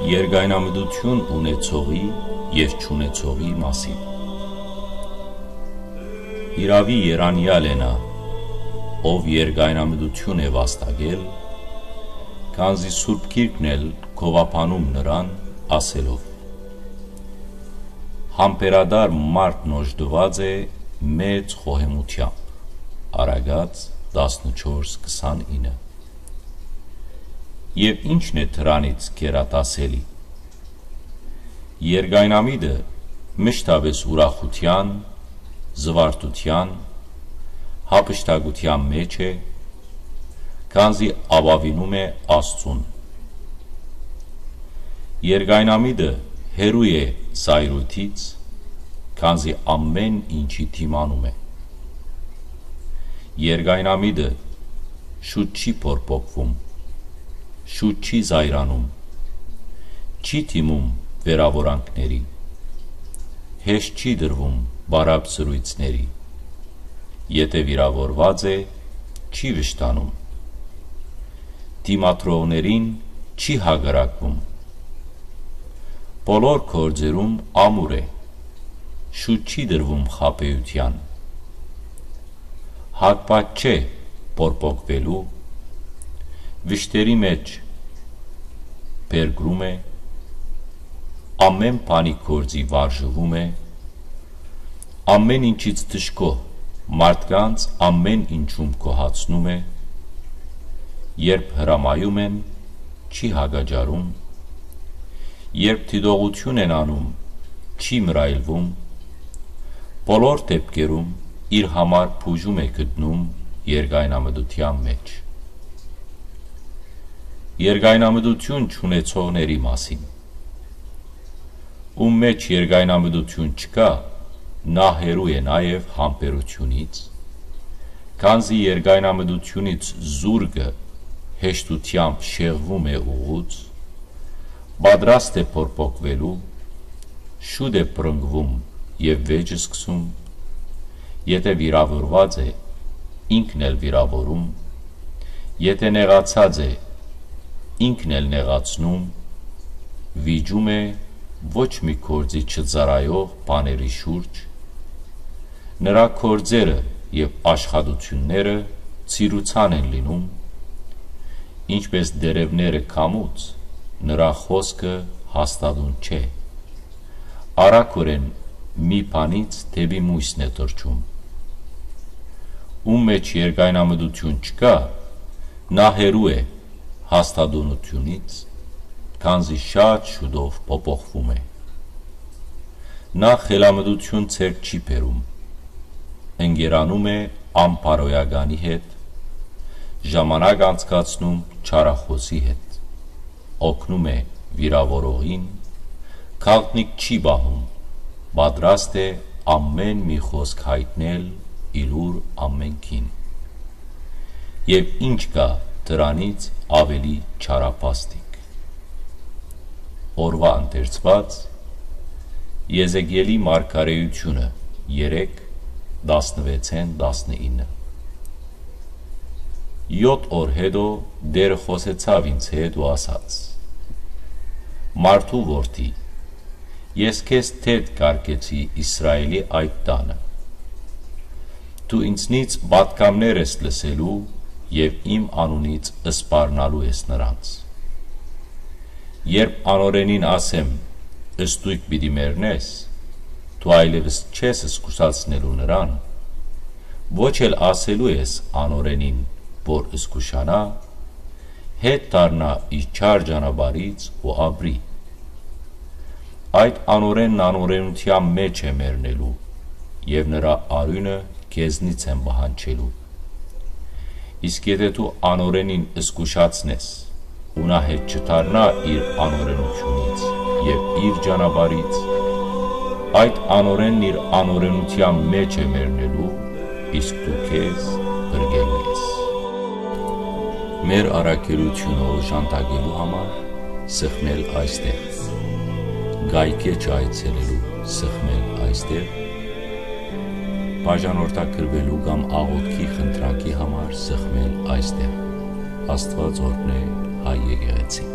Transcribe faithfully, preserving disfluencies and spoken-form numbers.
Երկայնամտութիւն ունեցողի եւ չունեցողի մասին։ Իրաւի երանեալ է նա, ով երկայնամտութիւն է վաստակել, քանզի Սուրբ Գիրքն էլ գովաբանում նրան, ասելով. «Համբերատար մարդն օժտուած է մեծ խոհեմութեամբ»։ Առակաց տասնչորս քսանինը։ Եւ ի՞նչն է դրանից գերադասելի։ Երկայնամիտը մշտապէս ուրախութեան, զուարթութեան, հափշտակութեան մէջ է, քանզի ապաւինում է Աստծուն։ Երկայնամիտը հեռու է զայրույթից, քանզի ամէն ինչի դիմանում է։ Երկայնամիտը շուտ չի փորփոքվում, շուտ չի զայրանում, չի դիմում վերաւորանքների, հեշտ չի տրվում բարապ զրոյցների, եթէ վիրաւորուած է, չի վշտանում, դիմադրողներին չի հակառակվում, բոլոր գործերուն ամուր է, շուտ չի տրվում խաբէութեան, հակված չէ փորփոքուելու, վշտերի մէջ փրկում է, ամէն բանի գործի վարժուում է, ամէն ինչից դժգոհ մարդկանց ամէն ինչում գոհացնում է, երբ հրամայում են, չի հակաճառում, երբ դիտողութիւն են անում, չի մռայլվում, բոլոր դէպքերում իր համար բուժում է գտնում երկայնամտութեան մէջ։ Երկայնամտութիւն չունեցողների մասին։ Ում մէջ երկայնամտութիւն չկայ, նա հեռու է նաեւ համբերութիւնից, քանզի երկայնամտութիւնից զուրկը հեշտութեամբ շեղվում է ուղուց, պատրաստ է փորփոքուելու, շուտ է բռնկվում եւ վէճ սկսում, եթէ վիրաւորուած է, ինքն էլ վիրաւորում, եթէ նեղացած է, ինքն էլ նեղացնում, վիճում է ոչ մի գործի չծառայող բաների շուրջ, նրա գործերը եւ աշխատութիւնները ծիրուցան են լինում, ինչպէս տերեւները քամուց, նրա խօսքը հաստատուն չէ, արագօրէն մի բանից դէպի մոյսն է թռչում։ Ում մէջ երկայնամտութիւն չկայ, նա հեռու է հաստատունութիւնից, քանզի շատ շուտով փոփոխվում է։ Նա խելամտութիւն ձեռք չի բերում, ընկերանում է անբարոյականի հետ, ժամանակ անցկացնում չարախօսի հետ, օգնում է վիրաւորողին, գաղտնիք չի պահում, պատրաստ է ամէն մի խօսք յայտնել ի լուր ամէնքին։ Եւ ի՞նչ կայ դրանից աւելի չարաբաստիկ։ Օրուայ ընթերցուած, Եզեկիէլի մարգարէութիւնը, երեք, տասնվեցէն տասնինը։ Եօթ օր յետոյ Տէրը խօսեցաւ ինձ հետ ու ասաց. «Մարդու որդի, ես քեզ դէդ կ'արգեցի Իսրայէլի այդ տանը։ Դու ինձնից պատգամներ ես լսելու եւ իմ անունից սպառնալու ես նրանց։ Երբ անօրէնին ասեմ. "Ստոյգ պիտի մեռնես", դու այլեւս չես զգուշացնելու նրան, ոչ էլ ասելու ես անօրէնին, որ զգուշանայ, հետ դառնայ իր չար ճանապարհից ու ապրի։ Այդ անօրէնն անօրէնութեան մէջ է մեռնելու, եւ նրա արիւնը քեզնից են պահանջելու։ Իսկ եթէ դու անօրէնին զգուշացնես ու նա հետ չդառնայ իր անօրէնութիւնից եւ իր ճանապարհից, այդ անօրէնն իր անօրէնութեան մէջ է մեռնելու, իսկ դու քեզ փրկելու ես»։ Մեր առաքելութիւնը օժանդակելու համար սեղմել այստեղ, կայքէջը այցելելու սեղմել այստեղ, բաժանորդագրուելու կամ աղօթքի խնդրանքի համար սեղմել այստեղ։ Աստուած օրհնէ հայ եկեղեցին։